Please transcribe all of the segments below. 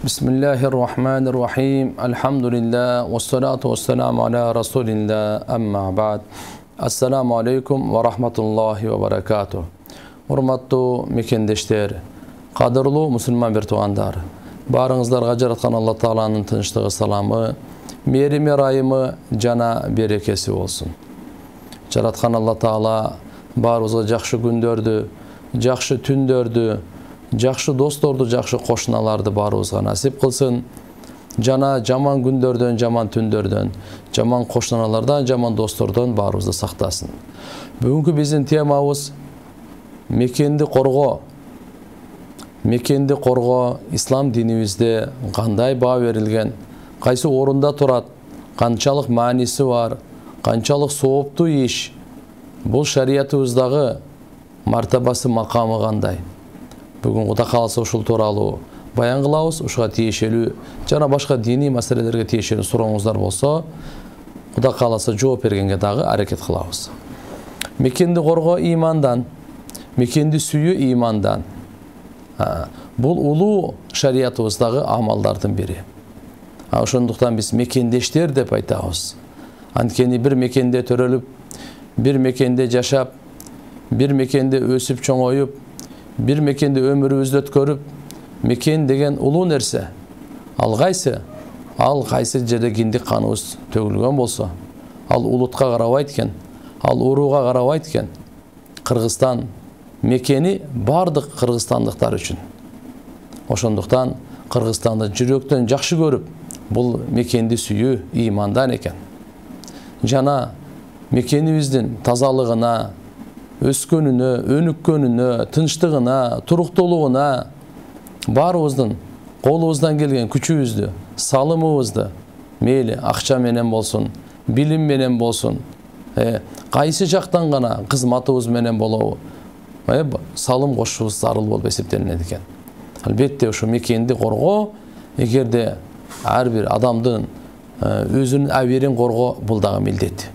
Bismillahirrahmanirrahim. Alhamdulillah. Wassalatu wassalamu ala rasulillah. Amma ba'd. Assalamu alaikum wa rahmatullahi wa barakatuh. Урматтуу мекендештер, кадырлуу мусулман бир туугандар. Барыңыздарга жараткан Алла Тааланын тынчтыгы, саламы, мерими, райымы жана берекеси болсун. Жараткан Алла Таала баарыбызга жакшы күндөрдү, жакшы түндөрдү, жакшы досторду, жакшы кошуналарды баарыбызга насип кылсын. Жана жаман күндөрдөн, жаман түндөрдөн, жаман кошуналардан, жаман достордон баарыбызды сактасын. Бүгүнкү биздин темабыз мекенди коргоо. Мекенди коргоо ислам динибизде кандай баа берилген, кайсы орунда турат, канчалык мааниси бар, канчалык сооптуу иш, бул шариятыбыздагы мартабасы, макамы кандай. Бүгүн Кудай кааласа ушул тууралуу баян кылабыз. Ушуга тиешелүү жана башка диний маселелерге тиешелүү сурооңуздар болсо, Кудай кааласа жооп бергенге дагы аракет кылабыз. Мекенди коргоо имандан, мекенди сүйүү имандан. Бул улуу шариятыбыздагы амалдардын бири. Ошондуктан биз мекендештер деп айтабыз. Анткени бир мекенде төрөлүп, бир мекенде жашап, бир мекенде өсүп чоңоюп, бир мекенде өмүрүбүздү өткөрүп, мекен деген улуу нерсе. Ал кайсы жерде киндик каныбыз төгүлгөн болсо, ал улутка карабайт экен, ал урууга карабайт экен. Кыргызстан мекени бардык кыргызстандыктар үчүн. Ошондуктан Кыргызстанды жүрөктөн жакшы көрүп, бул мекенди сүйүү имандан экен. Жана мекенибиздин тазалыгына, өскөнүнө, өнүккөнүнө, тынчтыгына, туруктуулугуна баарыбыздын колубуздан келген күчүбүздү, салымыбызды, мейли акча менен болсун, билим менен болсун, кайсы жактан гана кызматыбыз менен болобу, салым кошушубуз зарыл болуп эсептелинет экен. Албетте ушу мекенди коргоо, эгерде ар бир адамдын өзүнүн абийирин коргоо, бул дагы милдет.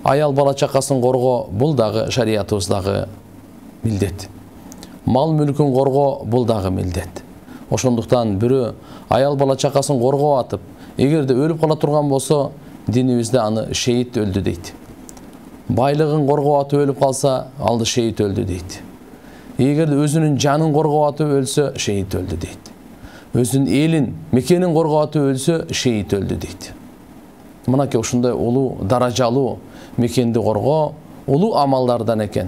Аял бала чакасын коргоо, бул дагы шариятыбыздагы милдет. Мал мүлкүн коргоо, бул дагы милдет. Ошондуктан бирөө аял бала чакасын коргоо атып, эгерде өлүп кала турган болсо, динибизде аны шейит өлдү дейт. Байлыгын коргоо атып өлүп калса, алды шейит өлдү дейт. Эгерде өзүнүн жанын коргоо атып өлсө, шейит өлдү дейт. Өзүнүн элин, мекенин коргоо атып өлсө, шейит өлдү дейт. Мынакей ушундай улуу, даражалуу мекенди коргоо улуу амалдардан экен.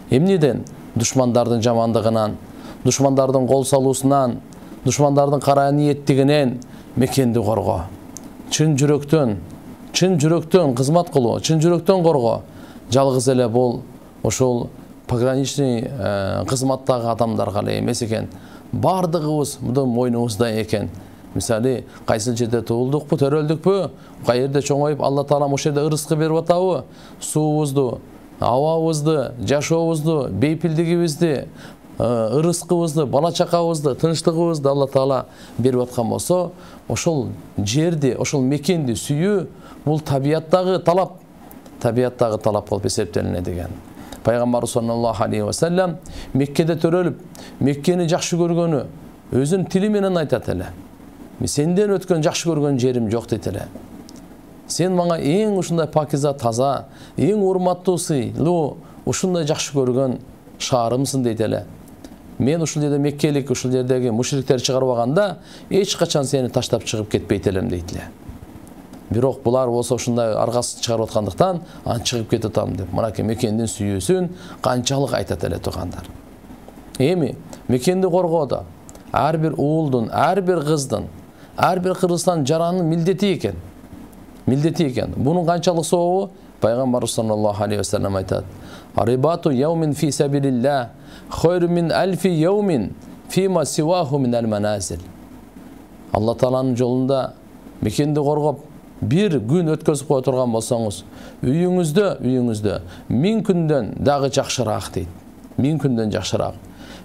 Эмнеден? Душмандардын жамандыгынан, душмандардын кол салуусунан, душмандардын кара ниеттигинен мекенди коргоо. Чын жүрөктөн кызмат кылуу, чын жүрөктөн коргоо. Жалгыз эле бул ошол пограничный кызматтагы адамдарга эле эмес экен. Бардыгыбыз мындан мойнубузда экен. Мисалы, кайсы жерде туулдукпу, төрөлдүкпү, кай жерде чоңоюп, Алла Таала ошол жерде ырызкы берип атабы, суубузду, абабызды, жашообузду, бейпилдигибизди, ырызкыбызды, бала чакабызды, тынчтыгыбызды Алла Таала берип аткан болсо, ошол жерди, ошол мекенди сүйүү, бул табияттагы талап болуп эсептелинет экен. Пайгамбар саллаллаху алейхи ва саллям Меккеде төрөлүп, Меккени жакшы көргөнү өзүнүн тили менен айтат эле. Сенден өткөн жакшы көргөн жерим жок дейт эле. Сен мага эң ушундай пакиза, таза, эң урматтуу, сыйлуу, ушундай жакшы көргөн шаарымсың дейт эле. Мен ушул жерде меккелик, ушул жердеги мушриктер чыгарбаганда, эч качан сени таштап чыгып кетпейт элем дейт эле. Бирок булар болсо ушундай аргасын чыгарып аткандыктан, аны чыгып кетип атам деп. Мынакей мекендин сүйүүсүн канчалык айтат эле туугандар. Эми мекенди коргоодо ар бир уулдун, ар бир кыздын, ар бир Кыргызстан жаранын милдети экен. Бунун канчалык сообу? Пайгамбар саллаллаху алейхи ва саллям айтат: "Арибату яумин фи сабилилlah хайру мин альфи яумин фима сиваху мин аль-маназил." Алла Тааланын жолунда мекенди коргоп, бир күн өткөзүп кое турган болсоңуз, үйүңүздө 1000 күндөн дагы жакшыраак дейт. 1000 күндөн жакшыраак.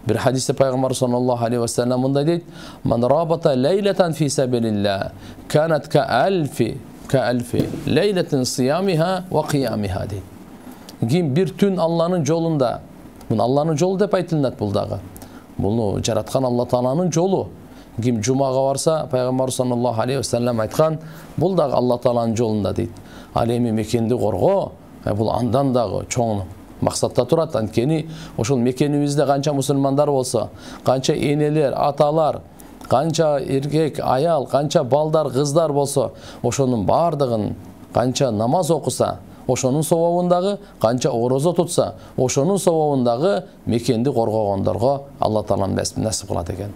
Bir hadiste Peygamber sallallahu aleyhi ve sellem bunda deyit: "Man rabata leyleten fi sabilillah kanat ka elfi leyletin siyamiha ve qiyamiha" deyit. Kim bir tün Allah'ın yolunda, bunu Allah'ın yolu dep aytılınat bul dagı. Bunu jaratkan Allah Taala'nın yolu. ким жумага барса, пайгамбар саллаллаху алейхи вассалам айткан, бул дагы Алла тааланын жолунда дейт. Ал эми мекенди коргоо, бул андан дагы чоң максатта турат. Анткени ошол мекенибизде канча мусулмандар болсо, канча энелер, аталар, канча эркек, аял, канча балдар, кыздар болсо, ошонун бардыгын канча намаз окуса, ошонун собобундагы, канча орозо тутса, ошонун собобундагы мекенди коргогондорго Алла таала насип кылат экен.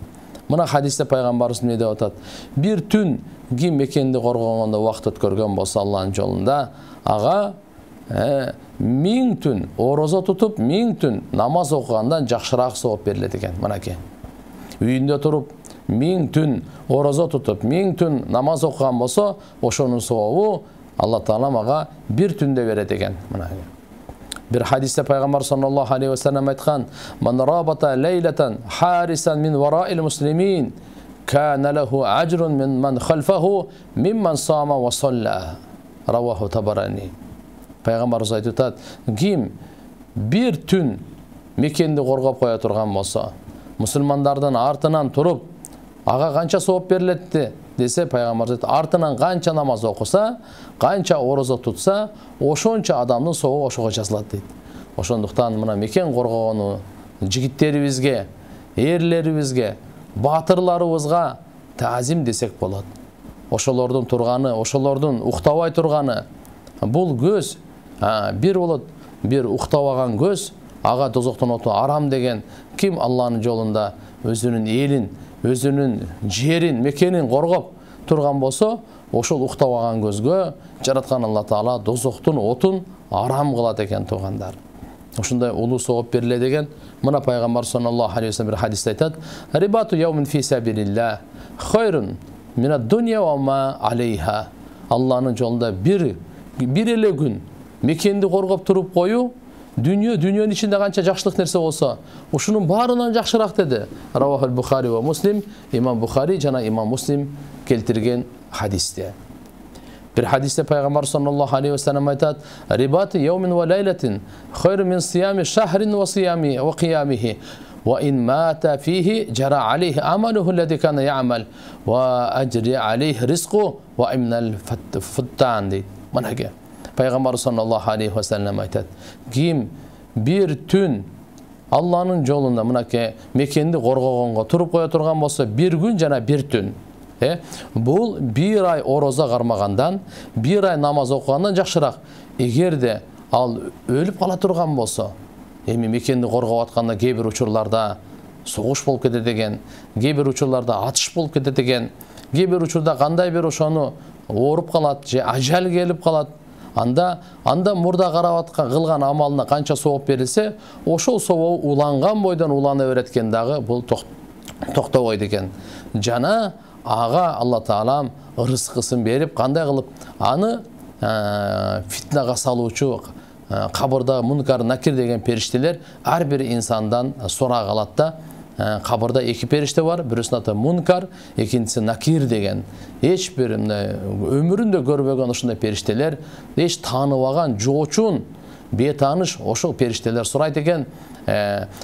Мына хадисте пайгамбарыбыз эмне деп атат? Бир түн ким мекенди коргогондо убакыт өткөргөн болсо Алланын жолунда, ага 1000 түн орозо тутуп, 1000 түн намаз окугандан жакшыраак сооп берилет экен. Мынакей. Үйүндө туруп 1000 түн орозо тутуп, 1000 түн намаз окуган болсо, ошонун сообу Алла таала ага бир түндө берет экен. Мынакей. Bir hadiste Peygamber sallallahu aleyhi ve sellem aytkan, "Man rabata leylatan harisan min wara'il muslimin, kana lahu ajrun min man khalfahu mimman sama ve salla." Ravahu Tabarani. Peygamberimiz aytат, kim bir tün mekенди коргоп коя турган болсо, мусулмандардын артынан туруп, ага канча сооп берилетти десе, пайгамбар aytат, артынан канча намаз окуса, канча орозо тутса, ошончо адамдын сообу ошого жазылат дейт. Ошондуктан мына мекен коргогону жигиттерибизге, эрлерибизге, батырларыбызга таазим десек болот. Ошолордун турганы, ошолордун уктабай турганы, бул көз бир болот, бир уктабаган көз, ага тозоктон оту арам деген. Ким Алланын жолунда өзүнүн элин, өзүнүн жерин, мекенин коргоп турган болсо, ошол уктабаган көзгө жараткан Алла таала дозоктун отун арам кылат экен туугандар. Ошондой улуу сооп берилет деген. Мына пайгамбар саллаллаху алейхи ва саллям бир хадисте айтат: "Рибату яумин фи сабилилlah хайрун мин ад-дунья ва ма алейха." Алланын жолунда бир эле күн мекенди коргоп туруп коюу, дүйнөнүн ичинде канча жакшылык нерсе болсо, ушунун баарынан жакшыраак деди. Равахул Бухари ва Муслим, имам Бухари жана имам Муслим келтирген хадисте. Bir hadiste Peygamber sallallahu aleyhi ve sellem aytat, "Ribatu yawmin ve laylatin hayrun min siyami shahrin ve siyami ve qiyamihi ve in mata fihi jara aleyhi amaluhu allazî kana ya'mal ve ajri aleyhi rizquhu ve imnal futtan." Mana ki Peygamber sallallahu aleyhi ve sellem aytat, kim bir tün Allah'ın jolunda mına ki mekendi korgogонго turup koya turgan bolsa, bir gün jana bir tün. Бул bir ay ороза кармагандан, bir ay намаз окугандан жакшыраак. Эгерде ал өлүп кала турган болсо, эми мекенди коргоп атканда кээ бир учурларда согуш болуп кетет экен, кээ бир учурларда атыш болуп кетет экен, кээ бир учурда кандай бир ошону ооруп калат же ажал келип калат. Анда мурда карап аткан кылган амалына канча сооп берилсе, ошол сообу уланган бойдон улана берет экен дагы, бул токтобойт экен. Жана ага Алла таалам рызкысын берип, кандай кылып аны фитнага салуучу кабырда мункар накир деген периштелер ар бир инсандан сурак алат да. Кабырда эки периште бар, бирөөсүнүн аты мункар, экинчиси накир деген. Эч бир өмүрүндө көрбөгөн ушундай периштелер, эч тааныбаган, жоочун, бетааныш ошол периштелер сурайт экен.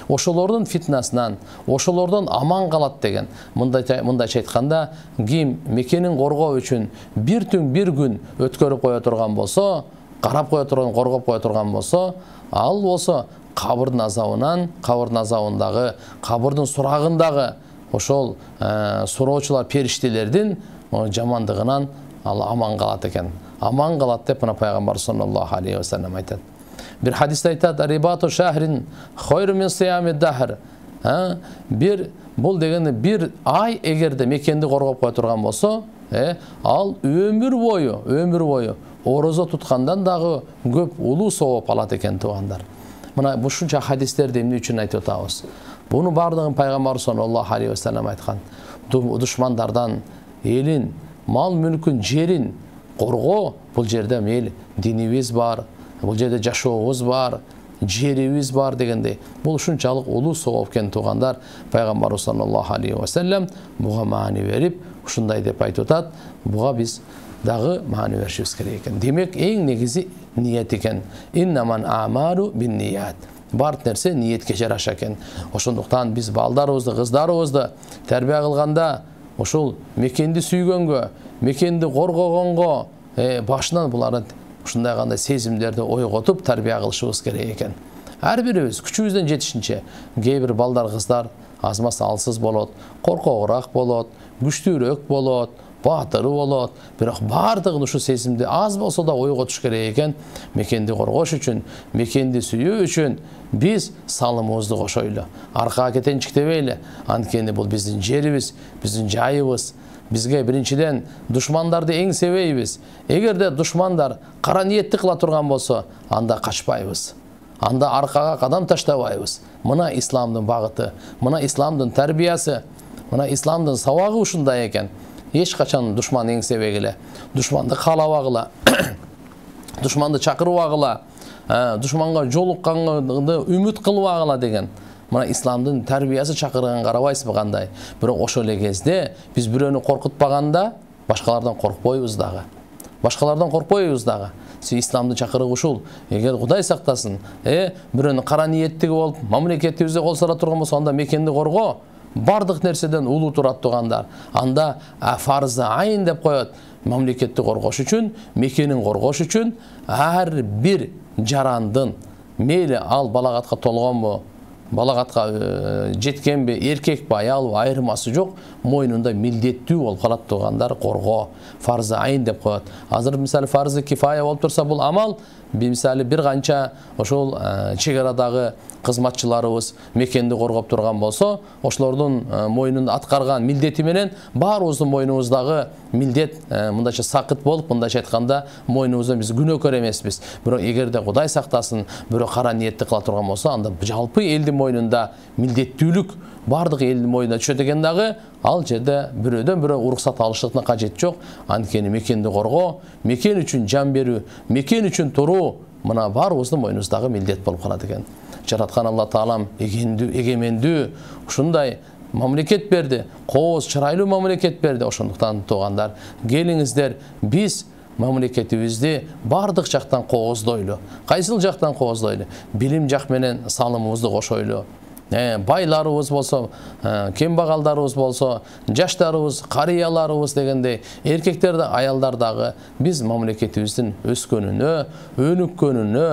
Ошолордун фитнасынан, ошолордон аман калат деген. Мындайча айтканда, ким мекенин коргоо үчүн бир түн бир күн өткөрүп кое турган болсо, карап кое турган, коргоп кое турган болсо, ал болсо кабырдын азабындагы, кабырдын сурагындагы ошол суроочулар периштелердин жамандыгынан ал аман калат экен. Аман калат деп мына пайгамбар саллаллаху алейхи ва саллям айтат. Bir hadiste aytat, "Ribatu shahrin hayrun min siyami dahr." Бул дегенде bir ay эгерде мекенди коргоп кое турган болсо, ал өмүр бою орозо туткандан дагы көп улуу сооп алат экен туугандар. Мына ушунча хадистерди эмне үчүн айтып атабыз? Буну бардыгын пайгамбар саллаллаху алейхи ва саллям айткан. Душмандардан элин, мал мүлкүн, жерин коргоо, бул жерде мейли динибиз бар, бул жерде жашообуз бар, жерибиз бар дегендей. Бул ушунчалык улуу сооп экен туугандар. Пайгамбар саллаллаху алейхи ва саллям буга маани берип, ушундай деп айтып атат. Буга биз дагы маани беришибиз керек экен. Демек, эң негизи ниет экен. Иннаман амалу бин ният. Бар нерсе ниетке жараша экен. Ошондуктан биз балдарыбызды, кыздарыбызды тарбия кылганда ошол мекенди сүйгөнгө, мекенди коргогонго башынан буларды ушундай кандай сезимдерди ойготуп тарбия кылышыбыз керек экен. Ар бирибиз күчүбүздөн жетишинче, кээ бир балдар кыздар азмас алсыз болот, коркогураак болот, күчтүүрөөк болот, баатыры болот, бирок бардыгын ушу сезимди аз болсо да ойготуш керек экен. Мекенди коргош үчүн, мекенди сүйүү үчүн биз салымыбызды кошойлу. Аркага кетенчиктебейли. Анткени бул биздин жерибиз, биздин жайыбыз. Бизге биринчиден душмандарды эңсебейбиз. Эгерде душмандар кара ниетти кыла турган болсо, анда качпайбыз. Анда аркага кадам таштабайбыз. Мына исламдын багыты, мына исламдын тарбиясы, мына исламдын сабагы ушундай экен. Эч качан душман эңсебегиле, душманды каалабагыла, душманды чакырбагыла, душманга жолукканды үмүт кылбагыла деген. Мына исламдын тарбиясы чакырган карабайсызбы кандай? Бирок ошол эле кезде биз бирөөнү коркутпаганда башкалардан коркпойбуз дагы. Башкалардан коркпойбуз дагы. Исламдын чакырыгы ушул. Эгер Кудай сактасын, бирөөнү кара ниеттиги болуп, мамлекетибизде кол сара турган болсо, анда мекенди корго, бардык нерседен улуу турат тугандар. Анда фарзы айын деп коет. Мамлекетти коргош үчүн, мекенин коргош үчүн ар бир жарандын, мейли ал балагатка толгонбу, балагатка жеткенби, эркекпи, аялбы айырмасы жок, мойнунда милдеттүү болуп калат тугандар коргоо. Фарзы айын деп коет. Азыр мисалы фарзы кифая болуп турса, бул амал мисалы бир канча ошол чек арадагы кызматчыларыбыз мекенди коргоп турган болсо, ошолордун мойнунда аткарган милдети менен баарыбыздын мойнубуздагы милдет мындайча сакыт болуп, мындайча айтканда мойнубуздан биз күнөөкөр эмеспиз. Бирок эгерде Кудай сактасын, бирөө кара ниетти кыла турган болсо, анда жалпы элдин мойнунда милдеттүүлүк бардык элдин мойнуна түшөт экен дагы, ал жерде бирөөдөн бирөө уруксат алыштыктын кажети жок. Анткени мекенди коргоо, мекен үчүн жан берүү, мекен үчүн туруу, мына баарыбыздын мойнубуздагы милдет болуп калат экен. Жараткан Алла Таалам эгемендүү ушундай мамлекет берди, кооз чырайлуу мамлекет берди. Ошондуктан туугандар, келиңиздер биз мамлекетибизди бардык жактан кооздойлу. Кайсыл жактан кооздойлу? Билим жак менен салымыбызды кошойлу. Байларыбыз болсо, кембагалдарыбыз болсо, жаштарыбыз, карыяларыбыз дегендей, эркектер да, аялдар дагы биз мамлекетибиздин өскөнүнө, өнүккөнүнө,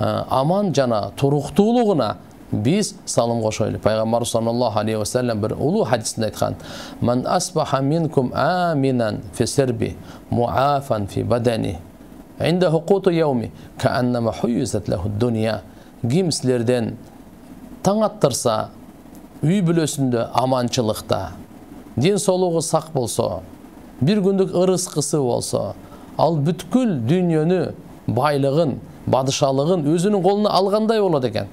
аман жана туруктуулугуна биз салым кошойлу. Пайгамбар саллаллаху алейхи ва саллям бир улуу хадисинде айткан: "Ман асбаха минкум аминан фи сирби, муафан фи бадани, инда хукуту яуми, кааннама хуйзат лаху дунья." Ким силерден таң аттырса, үй бүлөсүндө аманчылыкта, ден соолугу сак болсо, бир күндүк ырыскысы болсо, ал бүткүл дүйнөнү, байлыгын, бадышалыгын өзүнүн колуна алгандай болот экен.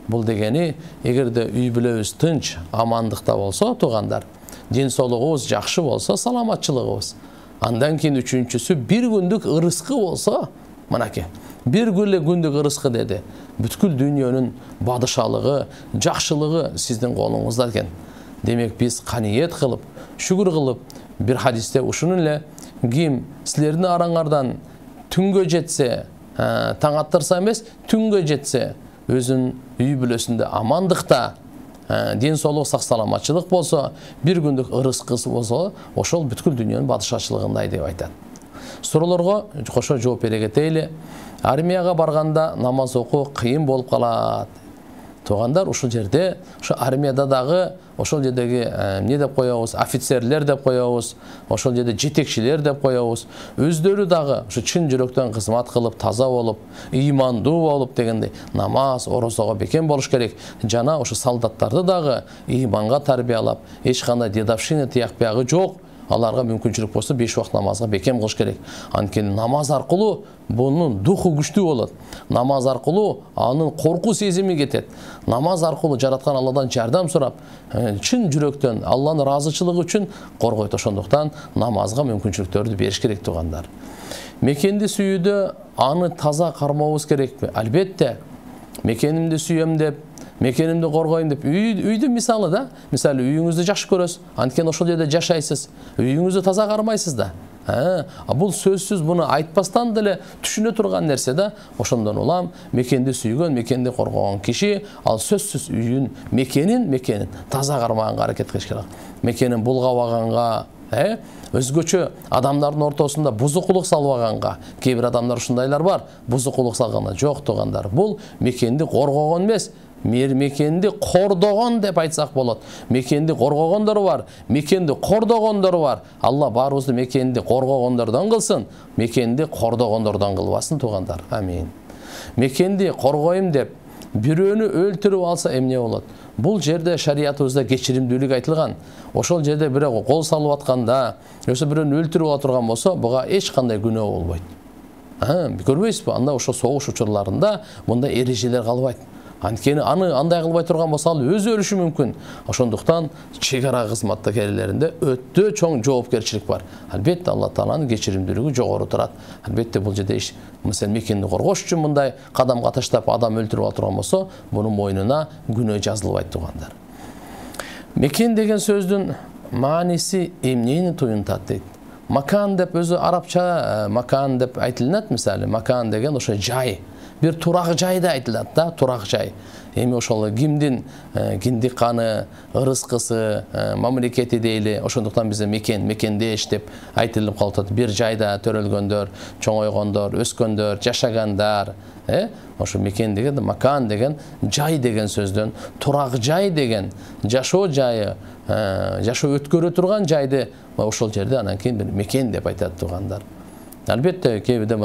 Бул дегени, эгерде үй бүлөбүз тынч, амандыкта болсо, туугандар, ден соолугубуз жакшы болсо, саламатчылыгыбыз. Андан кийин үчүнчүсү бир күндүк ырыскы болсо, мынакей, бир күндүк ырыскы деди. Бүткүл дүйнөнүн бадышалыгы, жакшылыгы сиздин колуңузда экен. Демек биз каниет кылып, шүгүр кылып, бир хадисте ушуну эле, ким силердин араңардан түнгө жетсе, таң аттырса эмес, түнгө жетсе, өзүнүн үй бүлөсүндө амандыкта, ден соолук, сак саламатчылык болсо, бир күндүк ырыскысы болсо, ошол бүткүл дүйнөнүн бадышачылыгындай деп айтат. Суроолорго кошо жооп бере кетели. Армияга барганда намаз окуу кыйын болуп калат. Туугандар, ушул жерде, ошо армияда дагы, ошол жердеги эмне деп коебуз, офицерлер деп коебуз, ошол жерде жетекчилер деп коебуз, өздөрү дагы ошо чын жүрөктөн кызмат кылып, таза болуп, ыймандуу болуп дегендей, намаз, орозого бекем болуш керек. Жана ошо солдаттарды дагы ыйманга тарбиялап, эч кандай дедовщина тиякпагы жок. Аларга мүмкүнчүлүк болсо 5 убакыт намазга бекем кылыш керек. Анткени намаз аркылуу бунун духу күчтүү болот. Намаз аркылуу анын корку сезими кетет. Намаз аркылуу жараткан Алладан жардам сурап, чын жүрөктөн Алланын ыраазычылыгы үчүн коргойт. Ошондуктан намазга мүмкүнчүлүктөрдү бериш керек, туугандар. Мекенди сүйүүдө аны таза кармообуз керекпи? Албетте. Мекенимди сүйөм деп, мекенимди коргойм деп, үйдү мисалы үйүңүздү жакшы көрөсүз, анткени ошол жерде жашайсыз. Үйүңүздү таза кармайсыз да. Бул сөзсүз буну айтпастан деле түшүнө турган нерсе да. Ошондон улам мекенди сүйгөн, мекенди коргогон киши ал сөзсүз үйүн, мекенин таза кармаганга аракет кылыш керек. Мекенин булгабаганга, өзгөчө адамдардын ортосунда бузукулук салбаганга. Кээ бир адамдар ушундайлар бар, бузукулук салганда. Жок тугандар, бул мекенди коргогон эмес, мекенди кордогон деп айтсак болот. Мекенди коргогондор бар, мекенди кордогондор бар. Алла баарыбызды мекенди коргогондордон кылсын, мекенди кордогондордон кылбасын тугандар. Амин. Мекенди коргойм деп бирөөнү өлтүрүп алса эмне болот? Бул жерде шариятыбызда кечиримдүүлүк айтылган. Ошол жерде бирок кол салып атканда, өсө бирөөнү өлтүрүп ала турган болсо, буга эч кандай күнөө болбойт. Көрбөйсүзбү? Анда ошо согуш учурларында мындай эрежелер калбайт. Анткени аны андай кылбай турган болсо, ал өзү өлүшү мүмкүн. Ошондуктан чек ара кызматтагерлеринде өтө чоң жоопкерчилик бар. Албетте Алла Тааланын кечиримдүүлүгү жогору турат. Албетте бул жерде мисалы мекенди коргош үчүн мындай кадамга таштап адам өлтүрүп ала турган болсо, мунун мойнуна күнөө жазылбайт тугандар. Мекен деген сөздүн мааниси эмнени туюнтат дейт. Макан деп өзү арабча макан деп айтылат, мисалы макан деген ошо жай. Bir турак жайда айтылат да, турак жай. Эми ошол кимдин киндик каны, ырыскысы, мамлекети дейли, ошондуктан бизде мекендеш деп айтылып калат. Бир жайда төрөлгөндөр, чоңойгондор, өскөндөр, жашагандар, ошо мекен деген, макан деген жай деген сөздөн, турак жай деген жашоо жайы, жашоо өткөрө турган жайды ошол жерде анан кийин бир мекен деп айтат тугандар. Албетте кээ бирде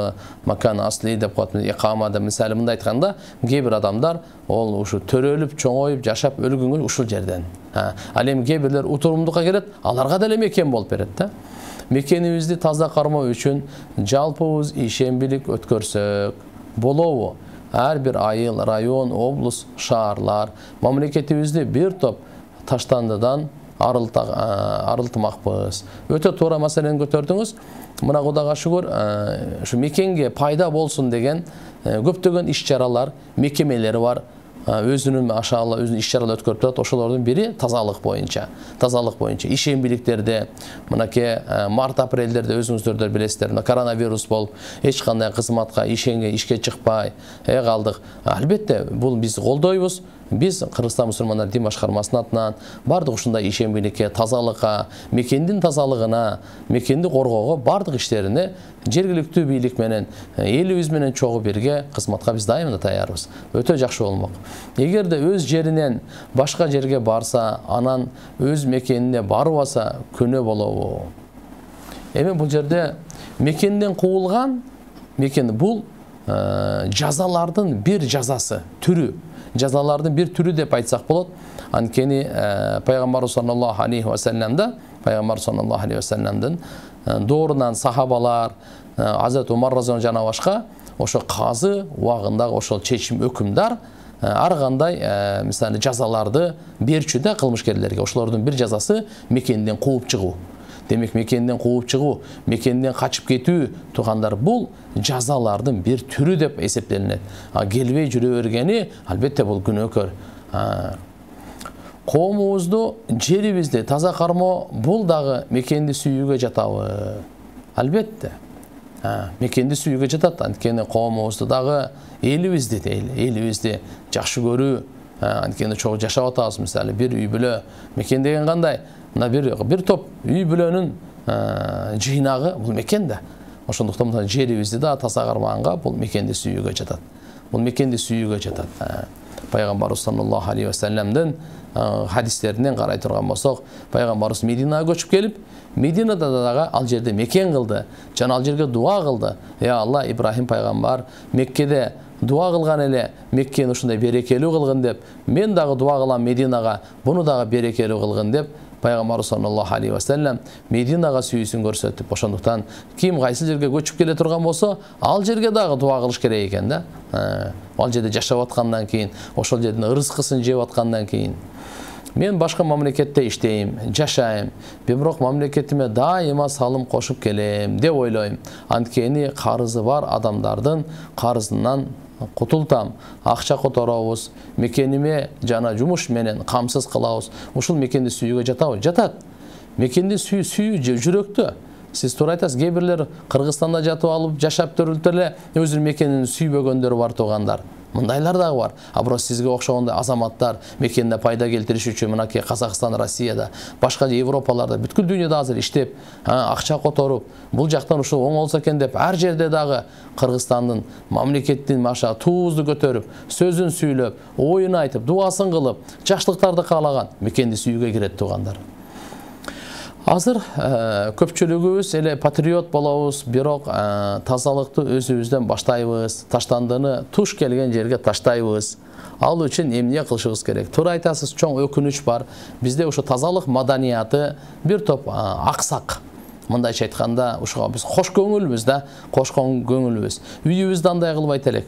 макан асли деп коет, икама деп мисалы мындай айтканда, кээ бир адамдар ол ушу төрөлүп, чоңоюп, жашап өлгөнгө ушул жерден. Ал эми кээ бирлер утурумдукка келет, аларга деле мекен болуп берет да. Мекенибизди таза кармоо үчүн жалпыбыз ишембилик өткөрсөк болобу? Ар бир айыл, район, облус, шаарлар мамлекетибизди бир топ таштандыдан арылтмакпыз. Өтө туура маселени көтөрдүңүз. Мына Кудайга шүгүр, ушу мекенге пайда болсун деген көптөгөн иш-чаралар, мекемелери бар. Өзүнүн ашаала, өзүнүн иш-чаралар өткөрүп турат. Ошолордун бири тазалык боюнча. Ишембиликтерде, мынакей март-апрелдерде өзүңүздөр билесиздер, коронавирус болуп, эч кандай кызматка, ишке чыкпай калдык. Албетте, бул биз колдойбуз. Биз Кыргызстан мусулмандар дин башкармасынын атынан бардык ушундай ишембиликке, тазалыкка, мекендин тазалыгына, мекенди коргоого бардык иштерине жергиликтүү бийлик менен, элибиз менен чогуу бирге кызматка биз дайыма таярбыз. Өтө жакшы болмок. Эгерде өз жеринен башка жерге барса, анан өз мекенине барбаса, күнөө болобу? Эми бул жерде мекенден куулган, бул жазалардын бир жазасы, түрү. Жазалардын бир түрү деп айтсак болот. Анткени пайгамбар саллаллаху алейхи ва салламдын доорунан сахабалар, Азат Умар разияллаху жана башка ошо казы убагындагы ошол чечим өкүмдар ар кандай мисалы жазаларды берчү да кылмышкерлерге. Ошолордун бир жазасы мекенден кууп чыгуу. Демек мекенден кууп чыгуу, мекенден качып кетүү тугандар бул жазалардын бир түрү деп эсептелинет. Келбей жүрө бергени албетте бул күнөөкөр. Коомубузду, жерибизди таза кармоо бул дагы мекенди сүйүүгө жатабы? Албетте. Мекенди сүйүүгө жатат. Анткени коомубузду дагы элибизди жакшы көрүү, анткени чогуу жашап атабыз. Мисалы бир үй бүлө, мекен деген кандай? Бир топ үй бүлөнүн жыйнагы бул мекен да. Ошондуктан жерибизди да таза кармаганга бул мекенди сүйүүгө жатат. Пайгамбарыбыз саллаллаху алейхи ва салламдын хадистеринен карай турган болсок, пайгамбарыбыз Мединага көчүп келип, Мединада дагы ал жерде мекен кылды, жана ал жерге дуа кылды. Алла, Ибрахим пайгамбар Меккеде дуа кылган эле, Меккени ушундай берекелүү кылгын деп, мен дагы дуа кылам Мединага, буну дагы берекелүү кылгын деп Пайгамбар саллаллаху алейхи ва саллям Мединага сүйүүсүн көрсөтүп, ошондуктан ким кайсы жерге көчүп келе турган болсо, ал жерге дагы дуа кылыш керек экен да. Ал жерде жашап аткандан кийин, ошол жердин ырыскысын жеп аткандан кийин. Мен башка мамлекетте иштейм, жашайм, бирок мамлекетиме дайыма салым кошуп келем деп ойлойм. Анткени карызы бар адамдардын карызынан кутултам, акча которобуз, мекениме жана жумуш менен камсыз кылабыз. Ушул мекенди сүйүүгө жатабы? Жатат. Мекенди сүйүү жүрөктө. Сиз туура айтасыз, кээ бирлер Кыргызстанда жатып алып жашап төрүлүп эле өзүнүн мекенин сүйбөгөндөр бар туугандар. Мындайлар дагы бар. А бирок сизге окшогондой азаматтар мекенине пайда келтириш үчүн мынакей Казакстан, Россияда, башка Европаларда, бүткүл дүйнөдө азыр иштеп, акча которуп, бул жактан ушул оң болсо экен деп, ар жерде дагы Кыргызстандын мамлекеттин маша туузду көтөрүп, сөзүн сүйлөп, оюн айтып, дуасын кылып, жакшылыктарды каалаган мекенди сүйүүгө кирет туугандар. Азыр көпчүлүгүбүз эле патриот болобуз, бирок тазалыкты өзүбүздөн баштайбыз, таштандыны туш келген жерге таштайбыз. Ал үчүн эмне кылышыбыз керек? Туура айтасыз, чоң өкүнүч бар. Бизде ошо тазалык маданияты бир топ аксак. Мындайча айтканда, ушуга биз кош көңүлбүз да, кош көңүлбүз. Үйүбүздө андай кылбайт элек.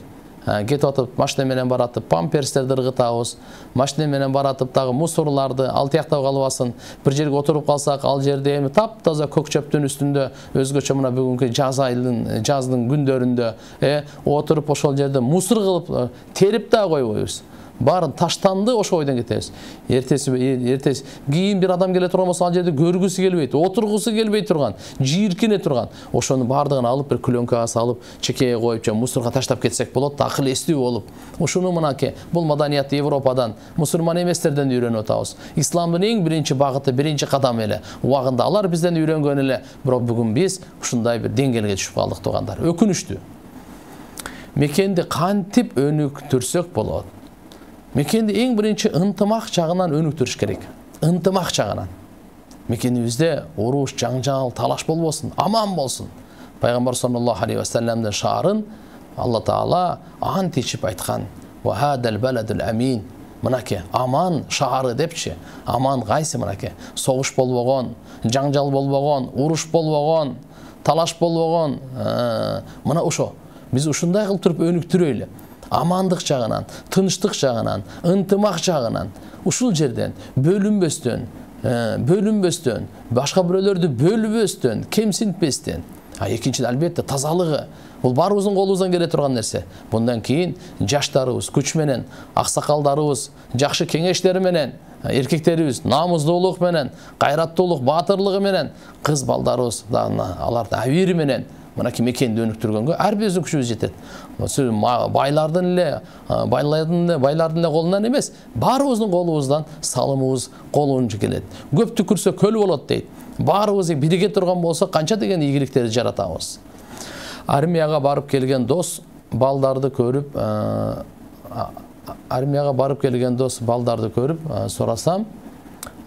Кетип атып, машина менен баратып, памперстерди ыргытабыз, машина менен баратып дагы мусорларды ал тияктап калбасын. Бир жерге отуруп калсак, ал жерде эми таптаза көк чөптүн үстүндө, өзгөчө мына бүгүнкү жаздын күндөрүндө отуруп ошол жерде мусор кылып терип да койбойбуз. Барын таштанды, ошо ойдон кетебиз. Эртеси кийин бир адам келе турган болсо, ал жерде көргүсү келбейт, отургусу келбей турган, жийиркене турган. Ошону бардыгын алып, бир клёнкага салып, чекеге коюп, же мусорго таштап кетсек болот да, акыл эстүү болуп. Ушуну мынакей, бул маданиятты Европадан, мусульман эместерден үйрөнүп атабыз. Исламдын эң биринчи багыты, биринчи кадамы эле. Убагында алар бизден үйрөнгөн эле, бирок бүгүн биз ушундай бир деңгээлге түшүп калдык туугандар. Өкүнүчтүү. Мекенди кантип өнүктүрсөк болот? Мекенди эң биринчи ынтымак жагынан өнүктүрүш керек. Ынтымак жагынан. Мекенибизде уруш, жаңжал, талаш болбосун, аман болсун. Пайгамбар саллаллаху алейхи ва салламдын шаарын Алла Таала античип айткан. Ва хадал баладул амин. Мынакей аман шаары депчи. Аман кайсы мынакей? Согуш болбогон, жаңжал болбогон, уруш болбогон, талаш болбогон. Мына ошо. Биз ушундай кылып туруп өнүктүрөйлү. Амандык жагынан, тынчтык жагынан, ынтымак жагынан, ушул жерден бөлүнбөстөн, башка бирөөлөрдү бөлбөстөн, кемсинтпестен. Экинчиден албетте тазалыгы. Бул баарыбыздын колубуздан келе турган нерсе. Bundan кийин жаштарыбыз күч менен, аксакалдарыбыз жакшы кеңештери менен, эркектерибиз намуздуулук менен, кайраттуулук, баатырлыгы менен, кыз балдарыбыз аларды абийири менен мынакей мекенди өнүктүргөнгө ар биздин күчүбүз жетет. Байлардын эле колунан эмес, баарыбыздын колубуздан салымыбыз колунча келет. Көп түкүрсө көл болот дейт. Баарыбыз бирге турган болсо канча деген ийгиликтерди жаратабыз. Армияга барып келген дос балдарды көрүп, сурасам,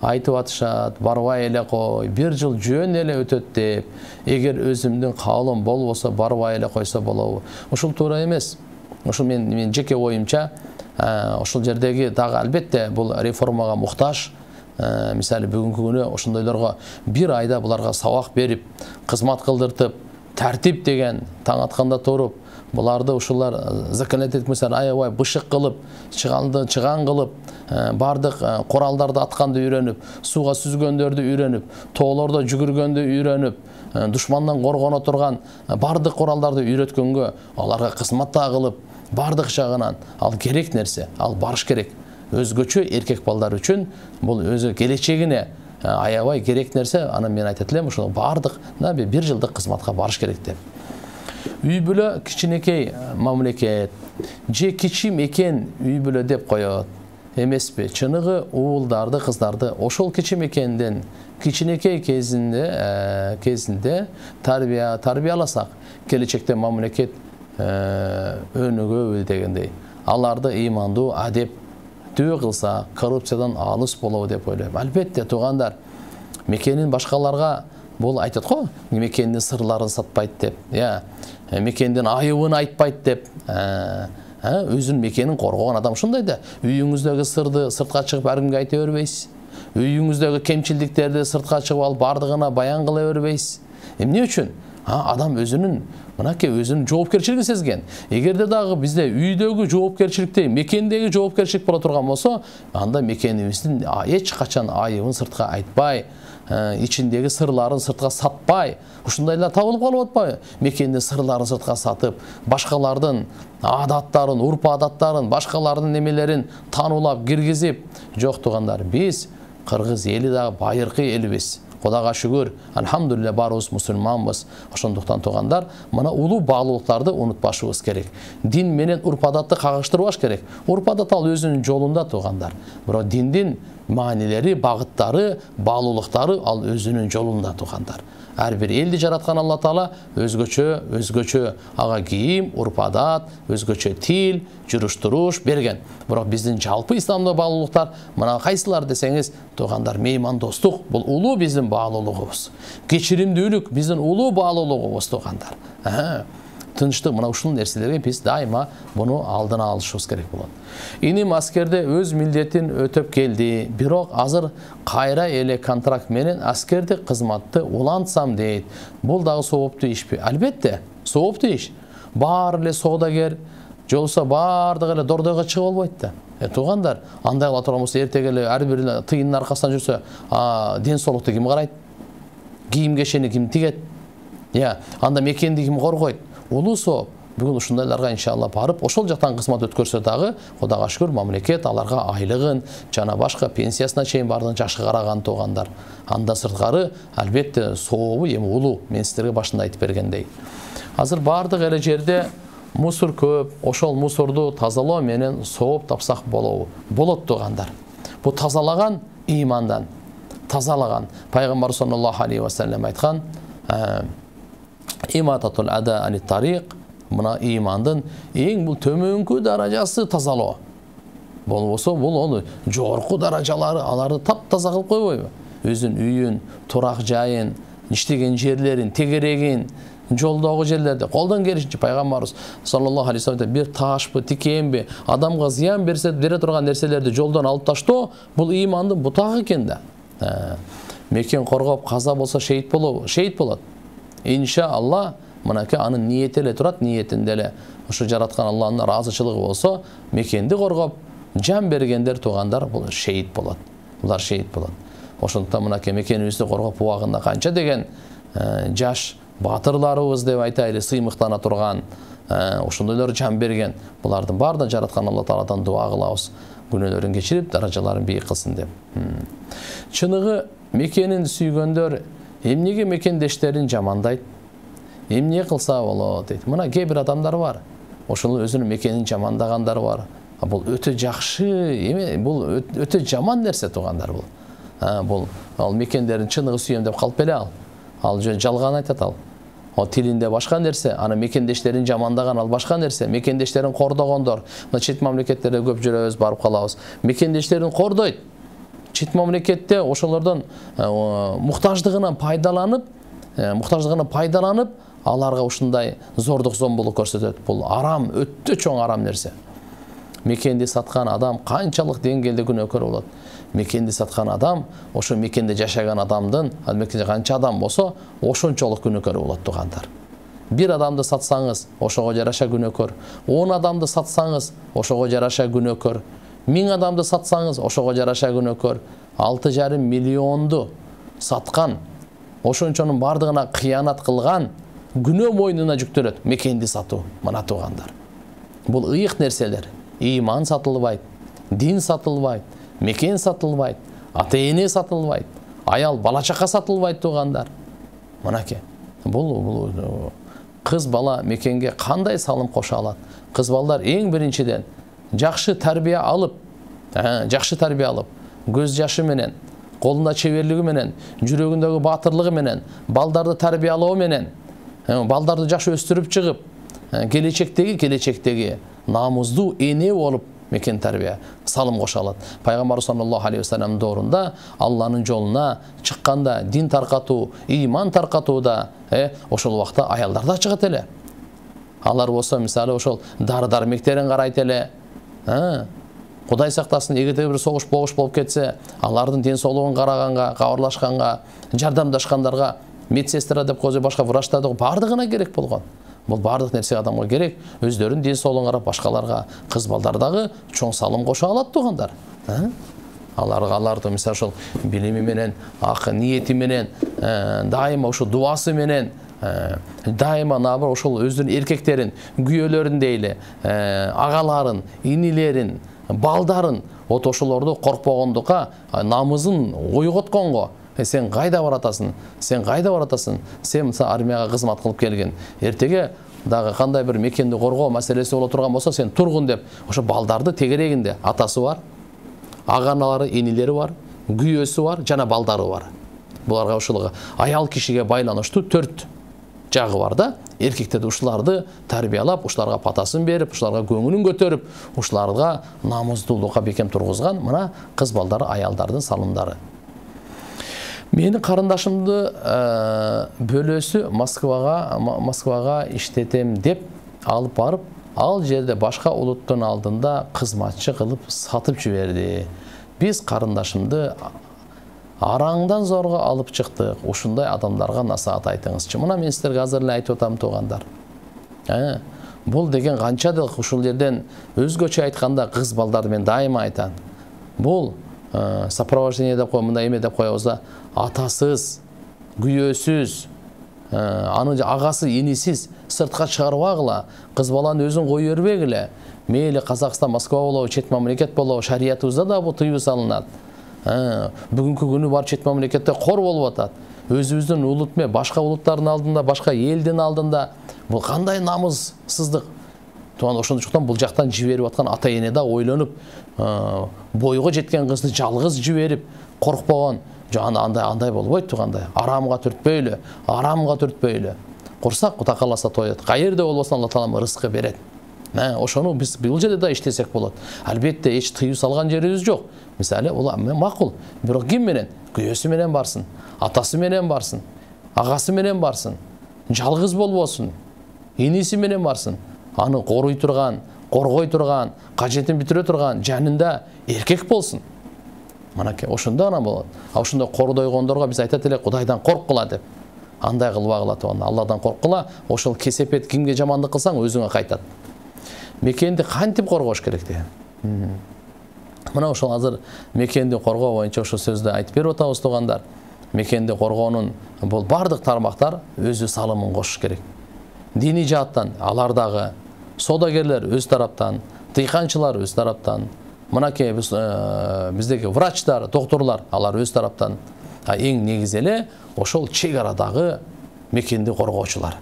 айтып атышат, барбай эле кой, бир жыл жөн эле өтөт деп, эгер өзүмдүн каалым болбосо барбай эле койсо болобу. Ушул туура эмес. Ушул мен жеке оюмча, ошол жердеги дагы албетте бул реформага муктаж. Мисалы бүгүнкү күнү ошондойлорго бир айда буларга сабак берип, кызмат кылдыртып, тартип деген таң атканда туруп, буларды ушулар законодательный мисалы аябай бышык кылып, чыган кылып, бардык куралдарды атканды үйрөнүп, сууга сүзгөндөрдү үйрөнүп, тоолордо жүгүргөндү үйрөнүп, душмандан коргоно турган бардык куралдарды үйрөткөнгө, аларга кызмат кылып, бардык жагынан ал керек нерсе, ал барыш керек. Өзгөчө эркек балдар үчүн бул өзү келечегине аябай керек нерсе. Анан мен айтат элем, ушул бардык бир жылдык кызматка барыш керек деп. Үй бүлө кичинекей мамлекет, же кичи мекен үй бүлө деп коет эмеспи? Чыныгы уулдарды, кыздарды ошол кичи мекенден кичинекей кезинде тарбияласак, келечекте мамлекет өнүгөбү дегендей. Аларды ыймандуу, адеп кылса, коррупциядан алыс болобу деп ойлойм. Албетте туугандар, мекенин башкаларга бул айтат го, мекендин сырларын сатпайт деп, мекендин айыбын айтпайт деп. Өзүнүн мекенин коргогон адам ушундай да. Үйүңүздөгү сырды сыртка чыгып ар кимге айта бербейсиз. Үйүңүздөгү кемчилдиктерди сыртка чыгып алып бардыгына баян кыла бербейсиз. Эмне үчүн? Адам өзүнүн өзүнүн жоопкерчилигин сезген. Эгерде дагы бизде үйдөгү жоопкерчиликтей, мекендеги жоопкерчилик боло турган болсо, анда мекенибиздин эч качан айыбын сыртка айтпай, ичиндеги сырларын сыртка сатпай, ушундайлар табылып калып атпайбы? Мекендин сырларын сыртка сатып, башкалардын адаттарын, урп-адаттарын, башкалардын немелерин танулап, киргизип, жок туугандар, биз кыргыз эли дагы байыркы элибиз. Кудайга шүгүр, алхамдулилля барыбыз мусулманбыз. Ошондуктан туугандар, мына улуу баалуулуктарды унутпашыбыз керек. Дин менен урп-адатты кагыштырбаш керек. Урп-адат ал өзүнүн жолунда туугандар. Бирок диндин маанилери, багыттары, баалуулуктары ал өзүнүн жолунда туугандар. Ар бир элди жараткан Алла Таала өзгөчө ага кийим, урп-адат, өзгөчө тил, жүрүш-туруш берген. Бирок биздин жалпы исламдык баалуулуктар мына кайсылар десеңиз, туугандар, меймандостук бул улуу биздин баалуулугубуз. Кечиримдүүлүк биздин улуу баалуулугубуз туугандар. Тынчтык, мына ушул нерселерге биз дайыма буну алдына алышыбыз керек болот. Иним аскерде өз милдетин өтөп келди, бирок азыр кайра эле контракт менен аскердик кызматты улантсам дейт. Бул дагы сооптуу ишпи? Албетте, сооптуу иш. Баары эле соодагер, жолсо баардыгы эле дордойго чыгып албайт да. Туугандар, андай кыла турган болсо эртеге эле ар бир тыйындын аркасынан жүрсө, ден соолукту ким карайт? Кийим кешени ким тигет? Анда мекенди ким коргойт? Улуу сооп. Бүгүн ушундайларга иншалла барып, ошол жактан кызмат өткөрсө дагы, Кудайга шүгүр, мамлекет аларга айлыгын жана башка пенсиясына чейин бардыгын жакшы караган туугандар. Анда сырткары албетте сообу эми улуу. Мен сиздерге башында айтып бергендей. Азыр бардык эле жерде мусор көп. Ошол мусорду тазалоо менен сооп тапсак болот туугандар. Бу тазалаган имандан. Тазалаган. Пайгамбар саллаллаху алейхи ва саллям айткан: имататул ада ани тариq, мына имандын эң бул төмөнкү даражасы тазалоо. Болбосо бул ону жогорку даражалары, аларды таптаза кылып койбойбу? Өзүнүн үйүн, турак жайын, иштеген жерлерин, тегерегин, жолдогу жерлерде колдон келишинче пайгамбарыбыз саллаллаху алейхи ва саллям бир ташпы, тикенби, адамга зыян бере турган нерселерди жолдон алып таштоо, бул имандын бутагы экен да. Мекен коргоп каза болсо шейит болот. Иншалла, мынакей анын ниети эле турат, ниетинде эле ушу жараткан Алланын ыраазычылыгы болсо, мекенди коргоп, жан бергендер туугандар бул шейит болот. Булар шейит болот. Ошондуктан мынакей мекенибизди коргоп убагында канча деген жаш батырларыбыз деп айтайлы, сыймыктана турган, ошондойлор жан берген. Булардын баардыгын жараткан Алла Тааладан дуа кылабыз. Күнөөлөрүн кечирип, даражаларын бийик кылсын деп. Чыныгы мекенин сүйгөндөр эмнеге мекендештерин жамандайт? Эмне кылса болот дейт. Мына кээ бир адамдар бар. Ошол өзүнүн мекенин жамандагандар бар. Бул өтө жакшы эме, бул өтө жаман нерсе туугандар бул. Бул ал мекендерин чыныгы сүйөм деп калып эле ал. Ал жалган айтат ал. Ал тилинде башка нерсе, аны мекендештерин жамандаган ал башка нерсе. Мекендештерин кордогондор, мына чет мамлекеттерде көп жүрөбүз, барып калабыз. Мекендештерин кордойт. Чет мамлекетте ошолордон муктаждыгынан пайдаланып, аларга ушундай зордук зомбулук көрсөтөт. Бул арам, өтө чоң арам нерсе. Мекенди саткан адам канчалык деңгээлде күнөөкөр болот? Мекенди саткан адам, ошо мекенде жашаган адамдын, мекенде канча адам болсо, ошончолук күнөөкөр болот туугандар. Бир адамды сатсаңыз, ошого жараша күнөөкөр. 10 адамды сатсаңыз, ошого жараша күнөөкөр. 1000 адамды сатсаңыз, ошого жараша күнөөкөр. 6,5 миллионду саткан, ошончонун бардыгына кыянат кылган күнөө мойнуна жүктөлөт. Мекенди сатуу, мына туугандар. Бул ыйык нерселер. Иман сатылбайт, дин сатылбайт, мекен сатылбайт, ата-эне сатылбайт, аял бала чака сатылбайт туугандар. Мынакей. Бул кыз бала мекенге кандай салым кошо алат? Кыз балдар эң биринчиден жакшы тарбия алып, көз жашы менен, колунда чеберлиги менен, жүрөгүндөгү батырлыгы менен, балдарды тарбиялоо менен, балдарды жакшы өстүрүп чыгып, келечектеги намуздуу эне болуп мекен тарбия салым кошо алат. Пайгамбар саллаллаху алейхи ва саллям доорунда Алланын жолуна чыкканда, дин таркатуу, иман таркатууда, ошол убакта аялдар да чыгат эле. Алар болсо мисалы ошол дары-дармектерин карайт эле. Кудай сактасын, эгерде бир согуш болуп кетсе, алардын ден соолугун караганга, кабарлашканга, жардамдашкандарга медсестра деп коюп, башка врачтар деп бардыгына керек болгон. Бул бардык нерсе адамга керек. Өздөрүнүн ден соолугун карап, башкаларга, кыз балдар дагы чоң салым кошо алат туугандар. Аларды мисалы ошол билими менен, ниети менен, дайыма ошо дуасы менен, дайыма набыр ошол өздөрүнүн эркектерин, күйөөлөрүн дейли, агаларын, инилерин, балдарын, ошолорду коркпогондукка, намызын ойготконго, Сен кайда баратасың? Сен кайда баратасың? Сен мисалы армияга кызмат кылып келген. Эртеге дагы кандай бир мекенди коргоо маселеси боло турган болсо, сен тургун деп, ошо балдарды тегерегинде атасы бар, аганалары, энилери бар, күйөөсү бар, жана балдары бар. Буларга ушул аял кишиге байланыштуу 4 жагы бар да. Эркектерди ушуларды тарбиялап, ушуларга патасын берип, ушуларга көңүлүн көтөрүп, ушуларга намуздуулукка бекем тургузган мына кыз балдары, аялдардын салымдары. Менин карындашымды бөлөсү Москвага иштетем деп алып барып, ал жерде башка улуттун алдында кызматчы кылып сатып жиберди. Биз карындашымды араңдан зорго алып чыктык. Ушундай адамдарга насаат айтыңызчы. Мына мен силерге азыр эле айтып атам туугандар. Бул деген канчадык ушул жерден өзгөчө айтканда кыз балдарды мен дайыма айтам. Бул сопровождение деп кой, мындай эме деп коебуз да, атасыз, күйөөсүз, анын агасы, энисиз сыртка чыгарбагыла, кыз баланы өзүн кое бербегиле. Мейли Казакстан, Москва болобу, чет мамлекет болобу, шариятыбызда да бул тыюу салынат. Бүгүнкү күнү бар чет мамлекетте кор болуп атат. Өзүбүздүн улут ме, башка улуттардын алдында, башка элдин алдында бул кандай намыссыздык. Ошондуктан бул жактан жиберип аткан ата-эне да ойлонуп, бойго жеткен кызды жалгыз жиберип коркпогон. Андай болбойт туугандай. Арамга түртпөйлү, арамга түртпөйлү. Курсак Кудай кааласа тоет. Каерде болбосун Алла Таала рызкы берет. Ошону биз бул жерде да иштесек болот. Албетте эч тыюу салган жерибиз жок. Мисалы, ул макул. Бирок ким менен? Күйөөсү менен барсын, атасы менен барсын, агасы менен барсын. Жалгыз болбосун. Эниси менен барсын. Аны коруй турган, коргой турган, кажетин бүтүрө турган жанында эркек болсун. Манаке ошондо гана болот. Ошондо кордойгондорго биз айтат элек, Кудайдан корккула деп. Андай кылбагыла туган. Алладан корккула. Ошол кесепет кимге жамандык кылсаң өзүңө кайтат. Мекенди кантип коргош керек деген. Мына ошол азыр мекенди коргоо боюнча ошол сөздү айтып берип атабыз туугандар. Мекенди коргоонун бул бардык тармактар өзү салымын кошуш керек. Диний жааттан алар дагы, содагерлер өз тараптан, тыйканчылар өз тараптан, мынакей биздеги врачтар, докторлор алар өз тараптан. Эң негизи эле ошол чек арадагы мекенди коргоочулар.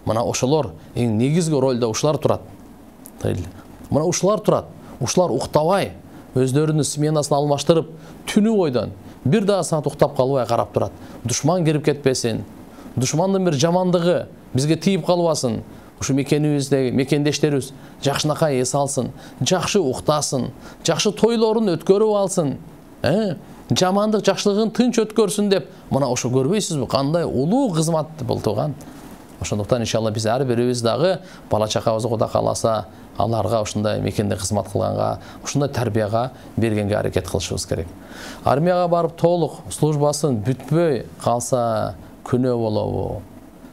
Мына ошолор эң негизги ролдо ушулар турат. Мына ушулар турат. Ушулар уктабай, өздөрүнүн сменасын алмаштырып, түнү бойдон бир дагы саат уктап калбай карап турат. Душман кирип кетпесин, душмандын бир жамандыгы бизге тийип калбасын. Ушу мекенибиздеги мекендештерибиз жакшынакай эс алсын, жакшы уктасын, жакшы тойлорун өткөрүп алсын. Жамандык жакшылыгын тынч өткөрсүн деп, мына ошо көрбөйсүзбү, кандай улуу кызмат бул тууган. Ошондуктан иншалла биз ар бирибиз дагы бала чакабызды Кудай кааласа, аларга ушундай мекенде кызмат кылганга, ушундай тарбияга бергенге аракет кылышыбыз керек. Армияга барып толук службасын бүтпөй калса күнөө болобу?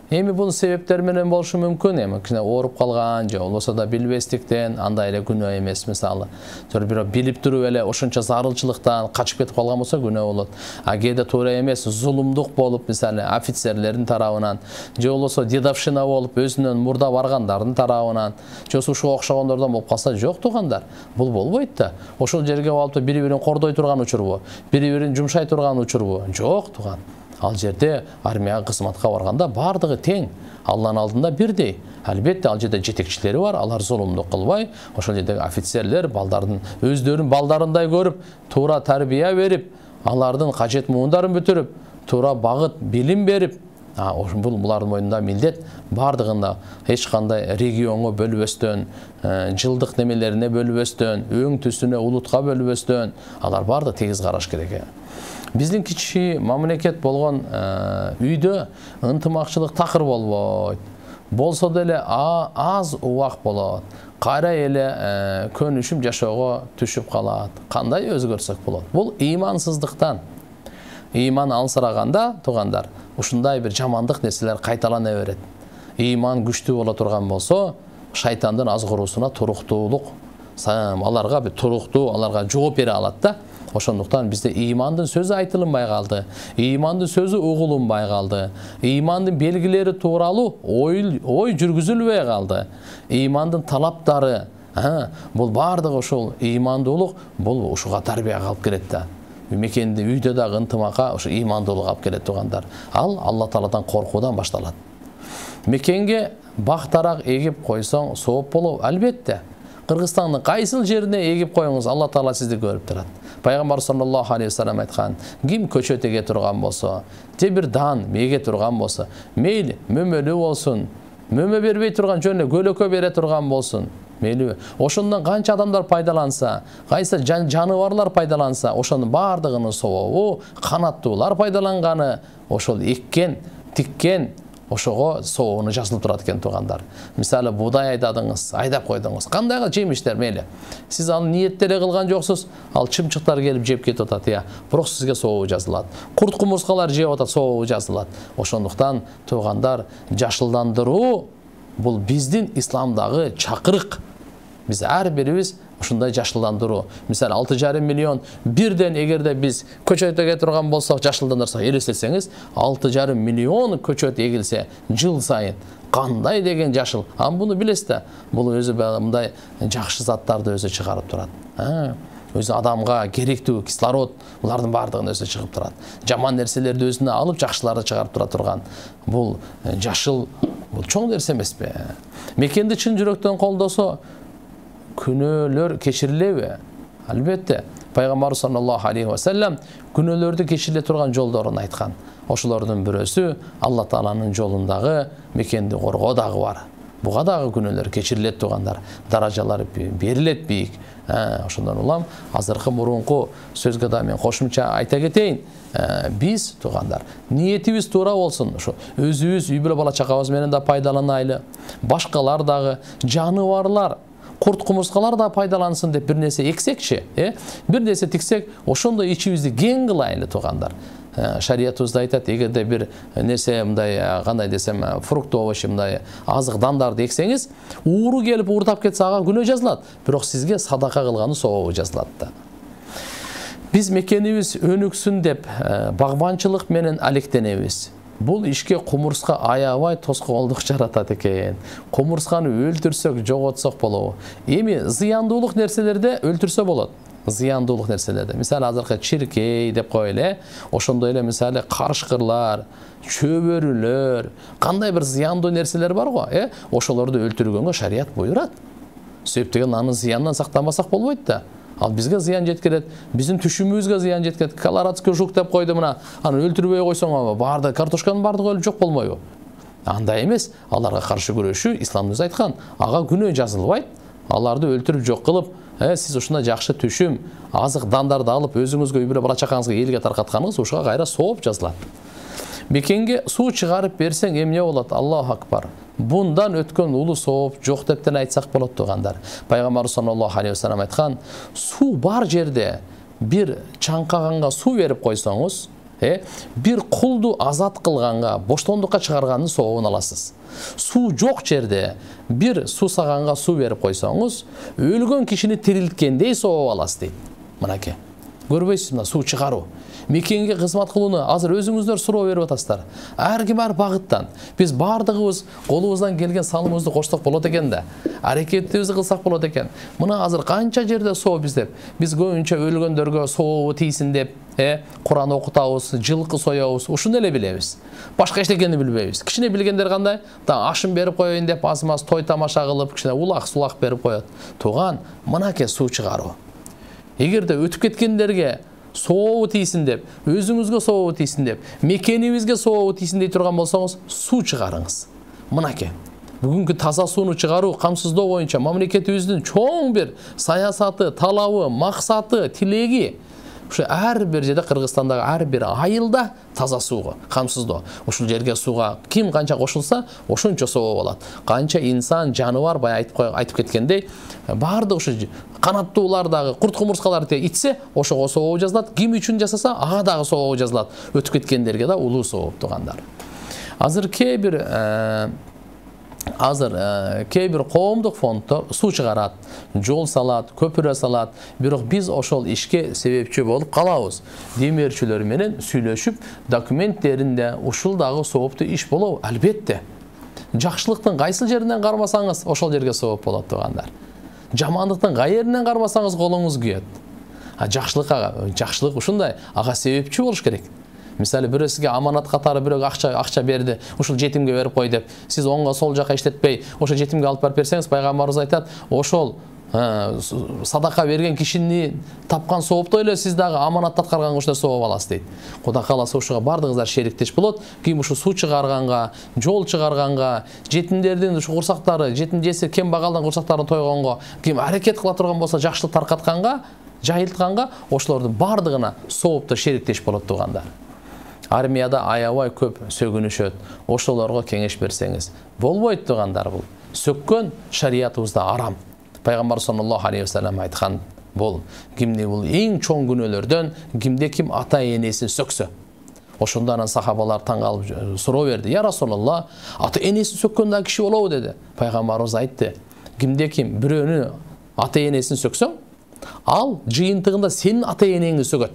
Эми бул себептер менен болушу мүмкүн. Эми кичине ооруп калган же болбосо да билбестиктен андай эле күнөө эмес. Мисалы, бирок билип туруп эле ошончо зарылчылыктан качып кетип калган болсо күнөө болот. Кээде туура эмес, зулумдук болуп, мисалы, офицерлердин тарабынан, же болбосо дедовщина болуп, өзүнөн мурда баргандардын тарабынан, же ушуга окшогондордон болуп калса, жок туугандар. Бул болбойт да. Ошол жерге барып бири-бирин кордой турган учурбу, бири-бирин жумшай турган учурбу? Жок тууган. Ал жерде армияга кызматка барганда бардыгы тең, Алланын алдында бирдей. Албетте ал жерде жетекчилери бар, алар зулумдук кылбай, ошол жердеги офицерлер балдардын өздөрүн балдарындай көрүп, туура тарбия берип, алардын кажет муундарын бүтүрүп, туура багыт билим берип, бул булардын мойнунда милдет. Бардыгында эч кандай регионго бөлүбөстөн, жылдык немелерине бөлүбөстөн, өң түсүнө, улутка бөлүбөстөн, алар бардыгы тегиз караш керек. Биздин кичи мамлекет болгон үйдө ынтымакчылык такыр болбойт. Болсо деле аз убак болот. Кайра эле көнүшүп жашоого түшүп калат. Кандай өзгөрсөк болот? Бул ыймансыздыктан. Ыйман алсыраганда, туугандар, ушундай бир жамандык нерселер кайталана берет. Ыйман күчтүү боло турган болсо, шайтандын азгыруусуна туруктуулук, аларга бир туруктуу, аларга жооп бере алат да. Ошондуктан бизде ыймандын сөзү айтылынбай калды, ыймандын сөзү угулунбай калды, ыймандын белгилери тууралуу ой жүргүзүлбөй калды. Ыймандын талаптары, бул бардыгы ошол ыймандуулук, бул ушуга тарбияга алып келет да. мекенде үйдө дагы ынтымакка ошо ыймандуулук алып келет туугандар. Ал Алла Тааладан коркуудан башталат. Мекенге бактарак эгип койсоң сооп болобу? Албетте. Кыргызстандын кайсыл жерине эгип коюңуз, Алла Таала сизди көрүп турат. Пайгамбар саллаллаху алейхи вассалам айткан, ким көчөт эге турган болсо, же бир дан эге турган болсо, мейли мөмөлүү болсун, мөмө бербей турган жөн көлөкө бере турган болсун, мейли ошондон канча адамдар пайдаланса, кайсы жаныбарлар пайдаланса, ошонун баардыгынын сообу канаттуулар пайдаланганы, ошол эккен, тиккен ошого сообуну жазылып турат экен туугандар. Мисалы буудай айдадыңыз, айдап койдуңуз. Кандайга жемиштер мейли. Сиз аны ниеттеле кылган жоксуз, ал чымчыктар келип жеп кетип атат, бирок сизге сообу жазылат. Курт кумурскалар жеп атат, сообу жазылат. Ошондуктан туугандар, жашылдандыруу бул биздин исламдагы чакырык. Биз ар бирибиз ушундай жашылдандыруу. Мисалы 6,5 миллион бирден эгерде биз көчөт эге турган болсок, жашылдандырсак, элестетсеңиз, 6,5 миллион көчөт эгилсе жыл сайын кандай деген жашыл. Буну билесиз да, бул өзү мындай жакшы заттарды өзү чыгарып турат. Өзү адамга керектүү кислород, булардын баардыгын өзү чыгып турат. Жаман нерселерди өзүнө алып, жакшыларды чыгарып тура турган. Бул жашыл, бул чоң нерсе эмеспи? Мекенди чын жүрөктөн колдосо, күнөөлөр кечирилеби? Албетте. Пайгамбар саллаллаху алейхи вассалам күнөөлөрдү кечириле турган жолдорун айткан. Ошолордун бирөөсү Алла Тааланын жолундагы мекенди коргоо дагы бар. Буга дагы күнөөлөр кечирилет туугандар. Даражалар берилет бийик. Ошондон улам азыркы мурунку сөзгө да мен кошумча айта кетейин. Биз туугандар, ниетибиз туура болсун. Ошо өзүбүз үй бүлө бала чакабыз менен да пайдаланайлы. Башкалар дагы, жаныбарлар, курт кумурскалар да пайдалансын деп бир нерсе эксекчи, бир нерсе тиксек, ошондой ичибизди кең кылайлы туугандар. Шариятыбызда айтат, эгерде бир нерсе мындай, кандай десем, фрукт овощ мындай азык дандарды эксеңиз, ууру келип уурдап кетсе ага күнөө жазылат, бирок сизге садака кылганы сообу жазылат да. Биз мекенибиз өнүксүн деп багбанчылык менен алектенебиз. Бул ишке кумурска аябай тоскоолдук жаратат экен. Кумурсканы өлтүрсөк, жоготсок болобу? Эми зыяндуулук нерселерде өлтүрсө болот. Зыяндуулук нерселерде. Мисалы азыркы чиркей деп коелу, ошондой эле мисалы карышкырлар, чөбөрүлөр, кандай бир зыяндуу нерселер бар го, ошолорду өлтүргөнгө шарият буйрат. Себеп деген анын зыянынан сактанбасак болбойт да. Ал бизге зыян жеткирет, биздин түшүмүбүзгө зыян жеткирет. Колорадский жук деп койду мына, аны өлтүрбөй койсоң, баарды картошканын баардыгы өлүп жок болмойбу? Андай эмес, аларга каршы күрөшүү исламыбыз айткан. Ага күнөө жазылбайт. Аларды өлтүрүп жок кылып, сиз ушундай жакшы түшүм, азык дандарды алып өзүңүзгө үй бүлө бала чакаңызга элге таркатканыңыз ушуга кайра сооп жазылат. Мекенге суу чыгарып берсең эмне болот? Аллаху акбар. Bundan өткөн улуу сооп жок дептен айтсак болот туугандар. Пайгамбар саллаллаху алейхи вассалам айткан, суу бар жерде бир чаңкаганга суу берип койсоңуз, бир кулду азат кылганга, боштондукка чыгарганын сообун аласыз. Суу жок жерде бир суусаганга суу берип койсоңуз, өлгөн кишини тирилткендей сооп аласыз дейт. Мынакей. Көрбөйсүз мына суу чыгаруу. Мекенге кызмат кылууну азыр өзүңүздөр суроо берип атасыздар. Ар ким ар багыттан. Биз баардыгыбыз колубуздан келген салымыбызды кошсок болот экен да. Аракетибизди кылсак болот экен. Мына азыр канча жерде соо биздеп. Биз көбүнчө өлгөндөргө сообу тийсин деп, Куран окутабыз, жылкы соёбуз. Ушуну эле билебиз. Башка эчтекени билбейбиз. Кичине билгендер кандай? Да ашын берип коеюн деп аз-маз той тамаша кылып, кичине улак-сулак берип коет. Туган, мынакей суу чыгаруу. Эгерде өтүп кеткендерге сообу тийсин деп, өзүңүзгө сообу тийсин деп, мекенибизге сообу тийсин дей турган болсоңуз, суу чыгарыңыз. Мынакей. Бүгүнкү таза сууну чыгаруу, камсыздоо боюнча мамлекетибиздин чоң бир саясаты, талабы, максаты, тилеги. Ушу ар бир жерде Кыргызстандагы ар бир айылда таза сууга, камсыздоо. Ушул жерге сууга ким канча кошулса, ошончо соо болот. Канча инсан, жаныбар бай айтып кеткендей, баардык ушу канаттуулар дагы, курт кумурскалар итсе, ошого соо жазылат. Ким үчүн жасаса, ага дагы соо жазылат. Өтүп кеткендерге да улуу соо туугандар. Азыр кээ бир коомдук фонддор суу чыгарат, жол салат, көпүрө салат, бирок биз ошол ишке себепчи болуп калабыз. Демирчилер менен сүйлөшүп, документтеринде ушул дагы сооптуу иш болобу? Албетте. Жакшылыктын кайсыл жеринен кармасаңыз, ошол жерге сооп болот туугандар. Жамандыктын кай жеринен кармасаңыз колуңуз күйөт. жакшылык ушундай, ага себепчи болуш керек. Мисалы бирөө сизге аманат катары бирөө акча берди, ушул жетимге берип кой деп, сиз оңго сол жака иштетпей, ошо жетимге алып барып берсеңиз, пайгамбарыбыз айтат, ошол садака берген кишини тапкан сооптой эле сиз дагы аманатты аткарганга ушундай сооп аласыз дейт. Кудай кааласа ушуга бардыгыңыздар шериктеш болот. Ким ушу суу чыгарганга, жол чыгарганга, жетимдердин ушу курсактары, жетим жесир кем багалдан курсактарын тойгонго, ким аракет кыла турган болсо, жакшылык таркатканга, жайылтканга, ошолордун бардыгына соопто шериктеш болот туугандар. Армияда аябай көп сөгүнүшөт. Ошолорго кеңеш берсеңиз болбойт туугандар. Бул сөккөн шариятыбызда арам. Пайгамбар саллаллаху алейхи вассалам айткан бул эң чоң күнөөлөрдөн кимде ким ата энесин сөксө. Ошондо анан сахабалар таң калып суроо берди. Я Расулалла, ата энесин сөккөн да киши болобу деди. Пайгамбарыбыз айтты, кимде ким бирөөнү ата энесин сөксөң, ал жыйынтыгында сенин ата энеңди сөгөт.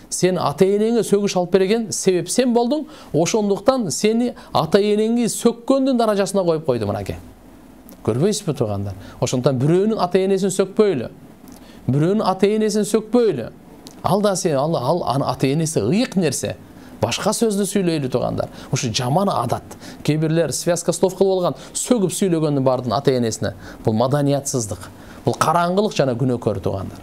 Сен ата энеңе сөгүш алып берген себеп сен болдуң, ошондуктан сени ата энеңди сөккөндүн даражасына коюп койду мынакей. Көрбөйсүзбү туугандар? Ошондуктан бирөөнүн ата энесин сөкпөйлү. Бирөөнүн ата энесин сөкпөйлү. Ал да сен ал ата энеси ыйык нерсе. Башка сөздү сүйлөйлү туугандар. Ушу жаман адат. Кээ бирлер связка слов кылып алган, сөгүп сүйлөгөндүн бардын ата энесине. Бул маданиятсыздык. Бул караңгылык жана күнөөкөр туугандар.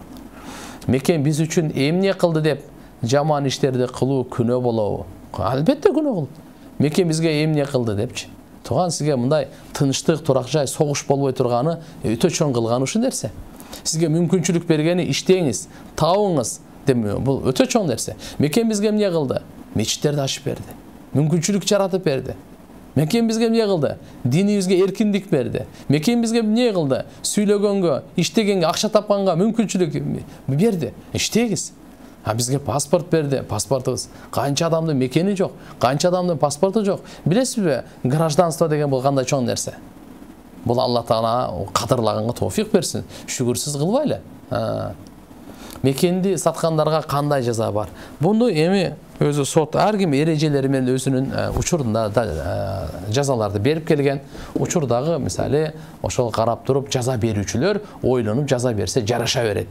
Мекен биз үчүн эмне кылды деп жаман иштерди кылуу күнөө болобу? Албетте күнөө кылды. Мекен бизге эмне кылды депчи. Туган сизге мындай тынчтык, турак жай, согуш болбой турганы өтө чоң кылганы ушул нерсе. Сизге мүмкүнчүлүк бергени иштеңиз, табыңыз деп бул өтө чоң нерсе. Мекен бизге эмне кылды? Мечиттерди ачып берди. Мүмкүнчүлүк жаратып берди. Мекен бизге эмне кылды? Динибизге эркиндик берди. Мекен бизге эмне кылды? Сүйлөгөнгө, иштегенге, акча тапканга мүмкүнчүлүк берди. Иштеңиз. Бизге паспорт берди, паспортубуз. Канча адамдын мекени жок, канча адамдын паспорту жок. Билесизби, гражданство деген бул кандай чоң нерсе. Бул Алла Таала кадырлаганга тоофик берсин. Шүгүрсүз кылбайлы. Мекенди саткандарга кандай жаза бар? Буну эми өзү сот ар ким эрежелери менен өзүнүн учурунда жазаларды берип келген. Учурдагы мисалы ошол карап туруп жаза берүүчүлөр ойлонуп жаза берсе жараша берет.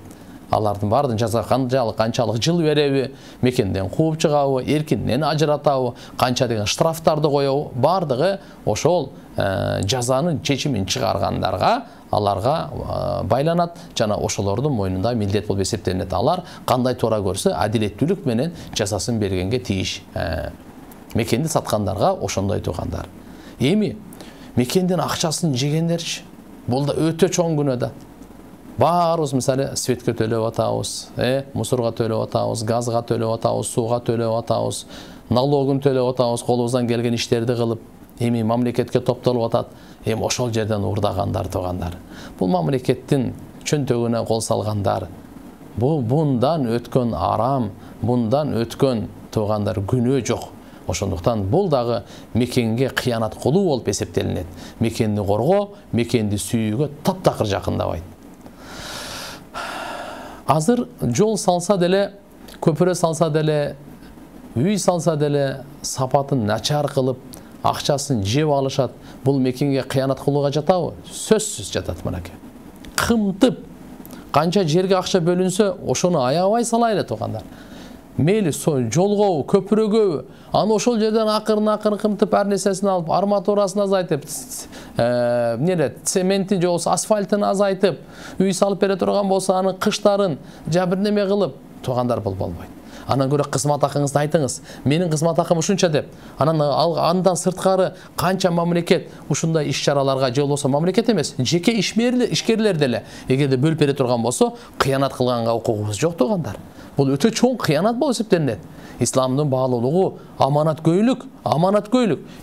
Алардын бардын жаза канчалык жыл береби, мекенден кууп чыгабы, эркинден ажыратабы, канча деген штрафтарды коебу, бардыгы ошол жазанын чечимин чыгаргандарга, аларга байланат жана ошолордун мойнунда милдет болуп эсептелинет. Алар кандай туура көрсө, адилеттүүлүк менен жазасын бергенге тийиш. Мекенди саткандарга ошондой туугандар. Эми мекендин акчасын жегендерчи, бул да өтө чоң күнөө да. Баарыбыз мисалы светке төлөп атабыз, мусорго төлөп атабыз, газга төлөп атабыз, сууга төлөп атабыз, налогун төлөп атабыз, колубуздан келген иштерди кылып, эми мамлекетке топтолуп атат. Эми ошол жерден урдагандар туугандар. Бул мамлекеттин чөнтөгүнө кол салгандар. Бул bundan өткөн арам, bundan өткөн туугандар күнөө жок. Ошондуктан бул дагы мекенге кыянат кылуу болуп эсептелинет. Мекенди коргоо, мекенди сүйүүгө таптакыр жакындабайт. Азыр жол салса деле, көпүрө салса деле, үй салса деле сапатын начар кылып, акчасын жеп алышат. Бул мекенге кыянат кылууга жатабы? Сөзсүз жатат мынакей. Кымтып канча жерге акча бөлүнсө, ошону аябай салайлы туугандар. Мейли жолгобу, көпүрөгөбү, аны ошол жерден акырын кымтып ар нерсесин алып, арматурасын азайтып, цементи же болсо асфальтын азайтып, үй салып бере турган болсо аны кыштарын жа бир неме кылып, туугандар бул болбойт. Анан көрө кызмат акыңызды айтыңыз. Менин кызмат акым ушунча деп. Андан сырткары канча мамлекет ушундай иш-чараларга же болсо мамлекет эмес, жеке ишкерлер деле эгерде бөлүп бере турган болсо, кыянат кылганга укугубуз жок туугандар. Бул өтө чоң кыянат болуп эсептелинет. Исламдын баалуулугу аманаткөйлүк.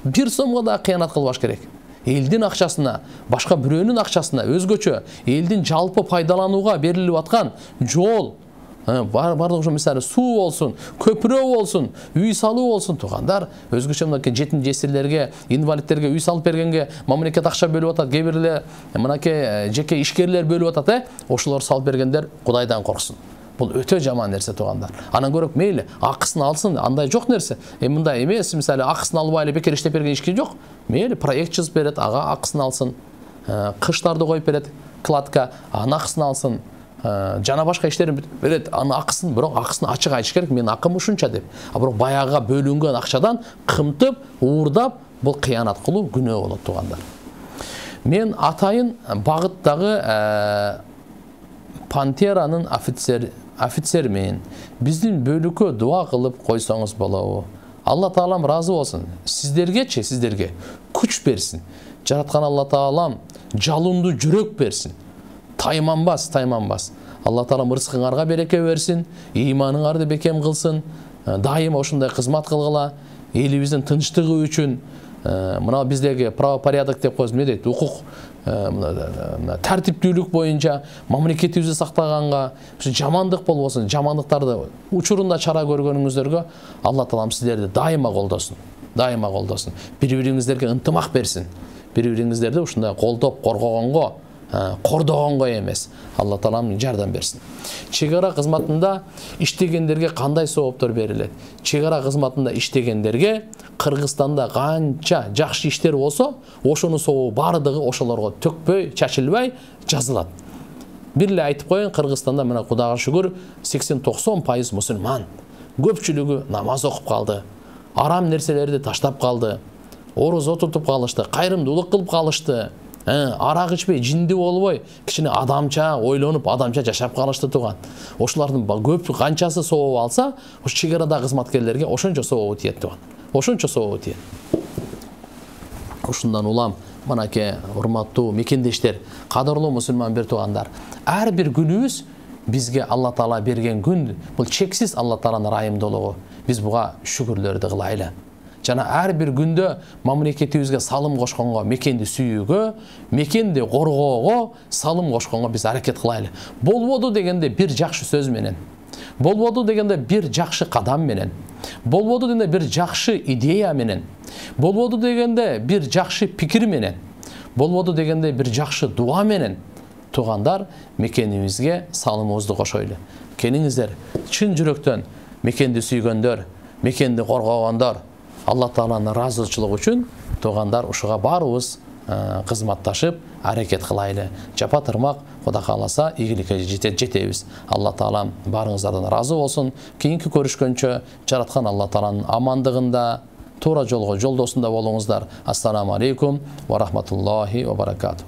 Бир сомго да кыянат кылбаш керек. Элдин акчасына, башка бирөөнүн акчасына өзгөчө элдин жалпы пайдаланууга берилип аткан жол, бардык ошо мисалы суу болсун, көпүрө болсун, үй салуу болсун туугандар, өзгөчө мынакей жетим жесирлерге, инвалидтерге үй салып бергенге мамлекет акча бөлүп атат, кээ бирлер мынакей жеке ишкерлер бөлүп атат, ошолор салып бергендер Кудайдан корксун. Бул өтө жаман нерсе туугандар. Анан көрөп мейли акысын алсын, андай жок нерсе. Мындай эмес, мисалы акысын албай эле бекер иштеп берген ишки жок. Мейли проект жазып берет, ага акысын алсын. Кыштарды коюп берет, кладка, аны акысын алсын. жана башка иштерин берет, анын акысын, бирок акысын ачык айтыш керек, менин акым ушунча деп. А бирок баягыга бөлүнгөн акчадан кымтып, уурдап, бул кыянат кылуу күнөө болот туугандар. Мен атайын багыттагы Пантеранын офицермин. Биздин бөлүккө дуа кылып койсоңуз болобу? Алла Таалам разы болсун. Сиздерге күч берсин. Жараткан Алла Таалам жалындуу жүрөк берсин. Тайманбас. Алла Таалам ырыскыңарга береке берсин, ыйманыңарды бекем кылсын. Дайыма ошондой кызмат кылгыла, элибиздин тынчтыгы үчүн. Мына биздеги правопорядок деп коебуз, эмне дейт? Укук, тартиптүүлүк боюнча мамлекетибизди сактаганга, жамандык болбосун, жамандыктарды учурунда чара көргөнүңүздөргө Алла Таалам сиздерди дайыма колдосун. Бири-бириңиздерге ынтымак берсин. Бири-бириңиздерди ушундай колдоп, кордогонго эмес. Алла Таалам жардам берсин. Чек ара кызматында иштегендерге кандай сооптор берилет? Чек ара кызматында иштегендерге Кыргызстанда канча жакшы иштер болсо, ошонун сообу бардыгы ошолорго төкпөй, чачылбай жазылат. Бир эле айтып коеюн, Кыргызстанда мына Кудайга шүгүр 80-90% мусулман. Көпчүлүгү намаз окуп калды. Арам нерселерди таштап калды. Орозо тутуп калышты, кайрымдуулук кылып калышты. Арак ичпей, жинди болбой, кичине адамча ойлонуп, адамча жашап калышты туган. Ошолордун көп канчасы сооп алса, ош чек арада кызматкерлерге ошончо сообу тиет туган. Ушундан улам, мынакей урматтуу мекендештер, кадырлуу мусулман бир туугандар. Ар бир күнүбүз бизге Алла Таала берген күн, бул чексиз Алла Тааланын ырайымдуулугу. Биз буга шүгүрлөрдү кылайлы. Жана ар бир күндө мамлекетибизге салым кошконго, мекенди сүйүүгө, мекенди коргоого салым кошконго биз аракет кылайлы. Болбоду дегенде бир жакшы сөз менен, болбоду дегенде бир жакшы кадам менен, болбоду дегенде бир жакшы идея менен, болбоду дегенде бир жакшы пикир менен, болбоду дегенде бир жакшы дуа менен туугандар мекенибизге салымыбызды кошойлу. Келиңиздер, чын жүрөктөн мекенди сүйгөндөр, мекенди коргогондор, Алла Тааланын ыраазычылыгы үчүн туугандар ушуга баарыбыз кызматташып аракет кылайлы. Жапа тырмак Кудай кааласа ийгиликке жетебиз. Алла Таалам баарыңыздардан ыраазы болсун. Кийинки көрүшкөнчө жараткан Алла Тааланын амандыгында, туура жолго жолдосунда болуңуздар. Ассаламу алейкум ва рахматуллахи ва баракатух.